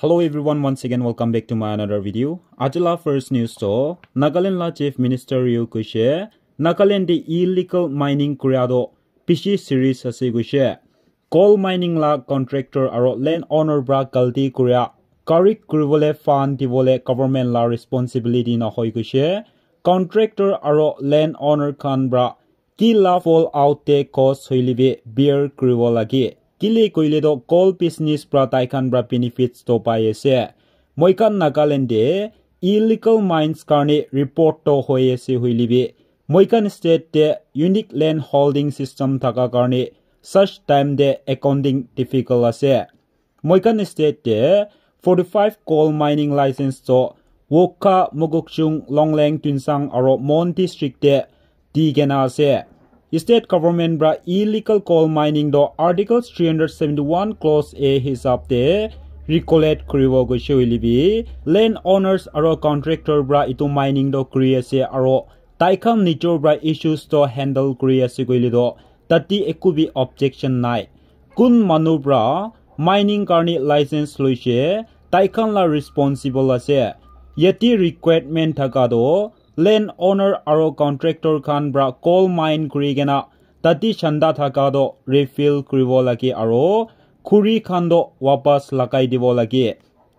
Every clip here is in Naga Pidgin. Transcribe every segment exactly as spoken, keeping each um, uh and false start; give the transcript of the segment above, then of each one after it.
Hello everyone, once again welcome back to my another video. Ajila first news to Nagaland la Chief Minister Rio Kushe, Nagaland de illegal mining kuria do bishi serious ase kushe. Coal mining la contractor aro land owner bra galti kuria correct kuribole fund dibole government la responsibility na hoi kushe. Contractor aro land owner khan bra ki la fall out te cost hoile bi bear kuribo lage. Kile koile to coal business pra tai khan pra benefits to pai ase. Moi khan Nagaland de illegal mines karne report to hoi ase hoile bi moi khan state de unique land holding system thaka karne such time de accounting difficult ase. Moi khan state te forty-five coal mining license to Wokha, Mokokchung, Longleng, Tuensang aro Mon district te di kena ase. State government pra illegal coal mining do Article three hundred seventy-one clause A hisab te recollect kuribo goise hoile bi land owners aro contractor pra itu mining do kuri ase aro tai khan nijor pra issues to handle kuri ase koile to tate eku bi objection nai. Kun manu pra mining karni license loise, tai khan la responsible ase. Yate requirement thaka to land owner aro contractor khan pra coal mine kuri kena tate chanda thaka to refill kuribo lage aro khuri khan to wapas lagai dibo lage.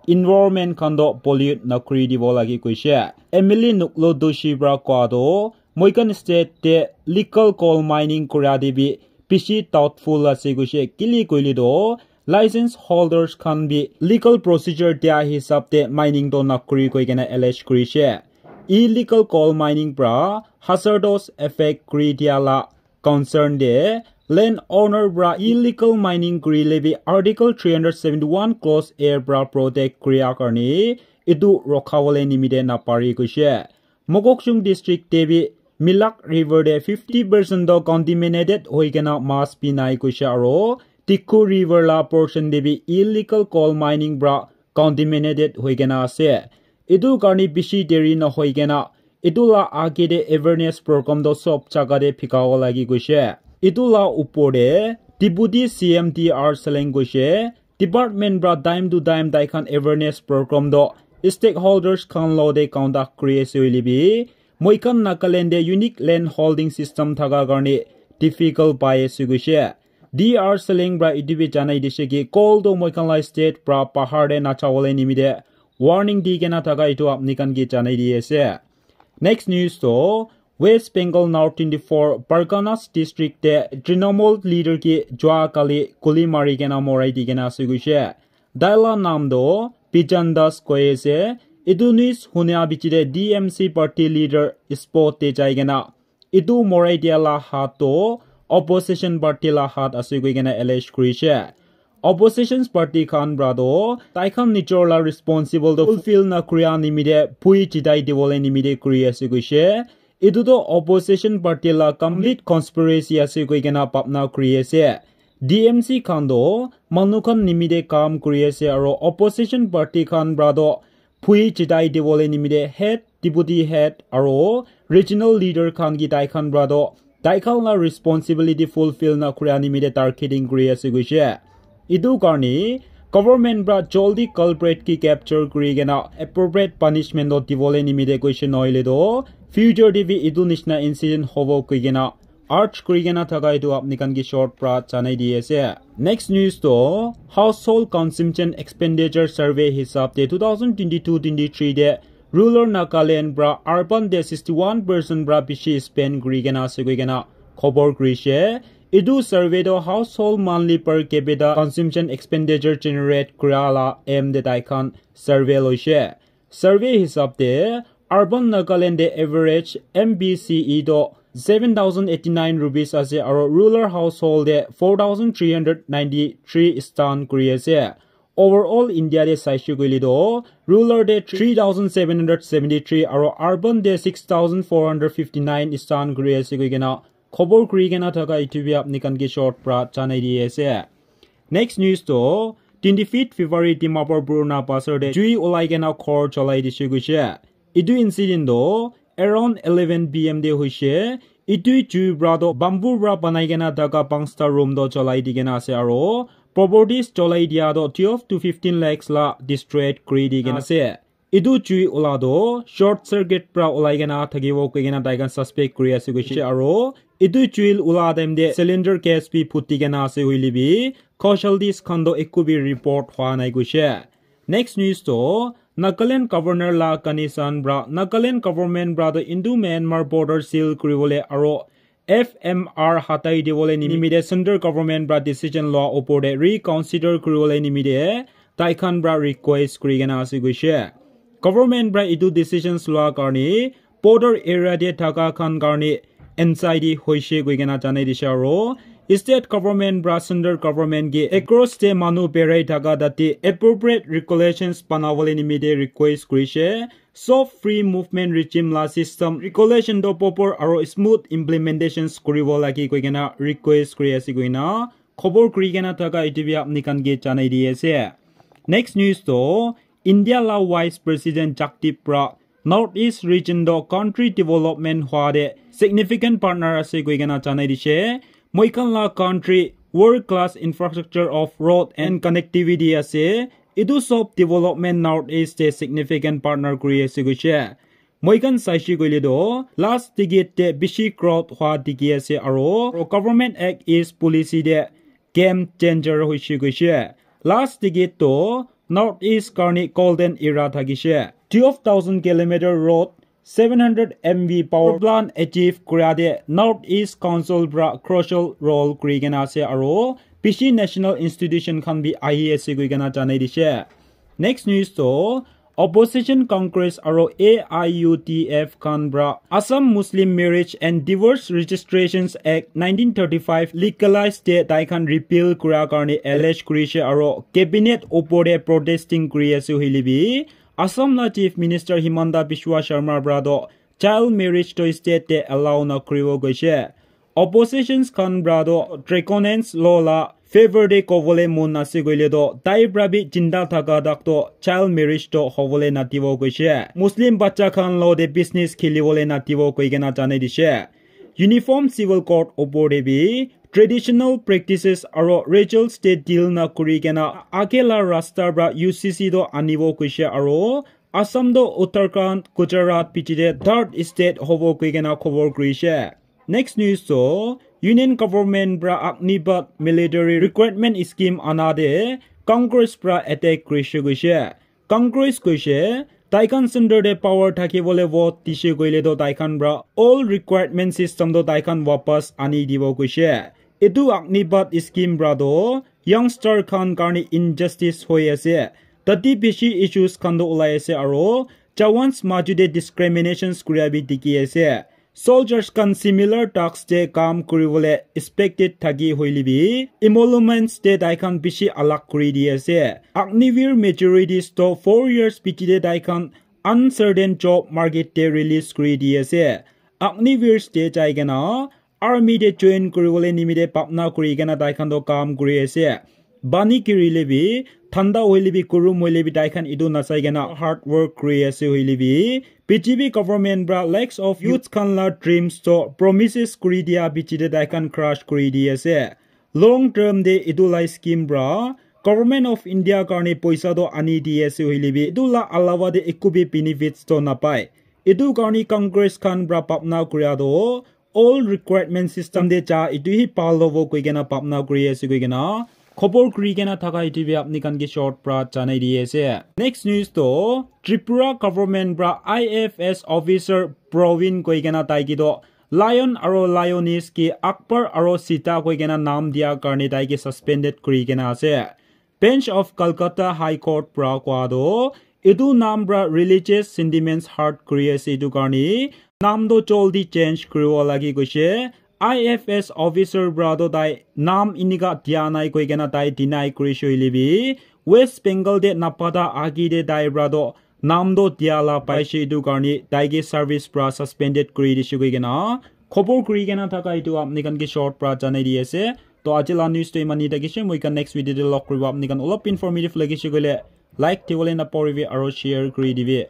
Environment khan to pollute nakuri dibo lage koise. M L A Nuklo Doshi pra koa to moi khan state te legal coal mining kura de bi bishi doubtful ase koise. Kile koile to license holders khan bi legal procedure dia hisab te mining to nakuri koi kena allege kurise. Illegal coal mining pra hazardous effect kuri dia la concern de land owner pra illegal mining kurile bi Article three hundred seventy-one clause A pra protect kuria karni itu rokhabole nimite napari koise. Mokokchung district te bi Milak River de fifty percent to contaminated hoi kena mas bi nai koise aro Tikhu River la portion de bi illegal coal mining pra contaminated hoi kena ase. Itu karni bishi deri na hoi kena itu la age de awareness program to sob jaga de phikabo lagi koise. Itu la upor de Deputy C M T R Seleng koise, department pra time to time tai khan awareness program to stakeholders khan lo de conduct kuri ase hoile bi moi khan Nagaland de unique land holding system thaka karni difficult pai ase koise. D R Seleng pra itu bi janai dise ki coal to moi khan la state pra bahar de nachawole nimite warning di kena thaka itu apni khan ki janai di ase. Next news to West Bengal North twenty-four Parganas district te Trinamool leader ki jua kali guli mari kena morai di kena ase koise. Daila nam do Bijan Das koi ase. Itu news hunia bichi de D M C party leader spot te jai kena itu morai dia la hat to opposition party la hat ase koi kena allege kurise. Opposition party khan pra to tai khan nijor la responsible to fulfill na kuria nimite pui chitai dibole nimite kuri ase koise. Itu to opposition party la complete conspiracy ase koi kena bhabna kuri ase. D M C khan to manu khan nimite kam kuri ase aro opposition party khan pra to pui chitai dibole nimite head, deputy head aro regional leader khan ki tai khan pra to tai khan la responsibility fulfill na kuria nimite targeting kuri ase koise. Itu karni government pra joldi culprit ki capture kuri kena appropriate punishment to dibole nimite koise nohole to future te bi itu nishina incident hobo koi kena urge kuri kena thaka itu apni khan ki short pra janai di ase. Next news to household consumption expenditure survey hisab te two thousand twenty-two twenty-three de rural Nagaland pra urban de sixty-one percent pra bishi spend kuri kena ase koi kena khobor kurise. Itu survey to household monthly per capita consumption expenditure generate kura la aim de tai khan survey loise. Survey hisab te urban Nagaland de average M B C E to seven thousand eighty-nine rupees ase aro rural household de four thousand three hundred ninety-three stand kuri ase. Overall India de saishe koile to rural de three thousand seven hundred seventy-three aro urban de six thousand four hundred fifty-nine stand kuri ase koi kena khobor kuri kena thaka itu bi apni khan ki short pra janai di ase. Next news to twenty-fifth February Dimapur Purana Bazar de jui ulai kena ghor cholai dise koise. Itu incident to around eleven P M de hoise. Itu jui pra to bamboo pra banai kena thaka panchta room to cholai di kena ase aro properties cholai dia toh twelve to fifteen lakhs la destroy kuri di kena ase. Etu jui ula toh short circuit pra ulai kena thakibo koi kena tai khan suspect kuri ase koishe, aro etu jui ula time te cylinder gas bi phuti kena ase hoile bi casualties khan toh ekku bi report hwa nai koishe. Next news toh Nagaland governor la condition pra Nagaland government pra toh Indo Myanmar border seal kuribole aro F M R hatai dibole nimite central government pra decision loa opor te reconsider kuribole nimite tai khan pra request kuri kena ase koishe. Government pra etu decisions loa karne border area te thaka khan karne anxiety hoishe koi kena janai dishe, aro state government pra central government ke across te manu berai thaka tate appropriate regulations banabole nimite request kurishe. Soft free movement regime la system regulation toh proper aro smooth implementations kuribo lagi koi kena request kuri ase koi kena khobor kuri kena thaka etu bi apni khan ke janai di ase. Next news toh India la Vice President Jagdeep pra North East region toh country development hwa te significant partner ase koi kena janai dishe. Moi khan la country world class infrastructure of road and connectivity ase. Etu sob development North East te significant partner kuri ase koishe. Moi khan saishe koile toh last decade te bishi growth hwa dikhi ase aro government act is policy te game changer hoishe koishe. Last decade toh North East karne golden era thakishe. Twelve thousand kilometer road, seven hundred M V power plant achieve kura te North East Council pra crucial role kuri kena ase aro bishi national institution khan bi ahi ase koi kena janai dishe. Next news toh opposition Congress aro A I U D F khan pra Assam Muslim Marriage and Divorce Registrations Act nineteen thirty-five legalize te tai khan repeal kura karne allege kurishe aro cabinet opor te protesting kuri ase hoile bi Assam la Chief Minister Himanta Biswa Sharma pra toh child marriage toh state te allow na kuribo koishe. Oppositions khan pra toh draconian law la favor te kobole mon ase koile toh tai pra bi jinda thaka tak toh child marriage toh hobole nadibo koishe. Muslim bacha khan lo te business khilibole nadibo koi kena janai dishe. Uniform Civil Code opor te bi traditional practices aro rituals te deal na kuri kena age la rasta pra U C C toh anibo koishe aro Assam toh Uttarakhand, Gujarat piche te third state hobo koi kena khobor kurishe. Next news toh Union Government pra Agnipath military recruitment scheme ana te Congress pra attack kurishe koishe. Congress koishe tai khan center te power thakibole vote dishe koile toh tai khan pra all recruitment system toh tai khan wapas ani dibo koishe. Etu Agnipath scheme pra toh youngster khan karne injustice hoi ase. Tate bishi issues khan toh ulai ase aro jawans maju te discriminations kuria bi dikhi ase. Soldiers khan similar tasks te kam kuribole expected thaki hoile bi emoluments te tai khan bishi alag kuri di ase. Agniveer majorities toh four years piche te tai khan uncertain job market te release kuri di ase. Agniveers te jai kena army te join kuribole nimite bhapna kuri kena tai khan toh kam kuri ase. Pani girile bi, thanda hoile bi, kurum hoile bi, tai khan etu nasai kena hard work kuri ase hoile bi, B J P government pra lakhs of youths khan la dreams toh promises kuri dia bichi te tai khan crush kuri di ase. Long term te etu la scheme pra Government of India karne poisa toh ani di ase hoile bi, etu la alawa te eku bi benefits toh napai. Etu karne Congress khan pra bhapna kuria toh all recruitment system te ja etu hi bhal hobo koi kena bhapna kuri ase koi kena khobor kuri kena thaka etu bi apni khan ke short pra janai di ase. Next news toh Tripura government pra I F S officer Praveen koi kena tai ke toh lion aro lioness ke Akbar aro Sita koi kena naam dia karne tai ke suspended kuri kena ase. Bench of Calcutta High Court pra koa toh etu naam pra religious sentiments hurt kuri ase, etu karne naam toh jaldi change kuribo lagi koishe. I F S officer pra toh tai naam inika dia nai koi kena tai deny kurishe hoile bi West Bengal te napata agi te tai pra toh naam toh dia la paishe, etu karne tai ke service pra suspended kuri dishe koi kena khobor kuri kena thaka etu apni khan ke short pra janai di ase. To aji la news toh iman hi thakishe, moi khan next video te log kuribo. Apni khan olop informative lagishe koile like dibole napahoribi aro share kuri dibi.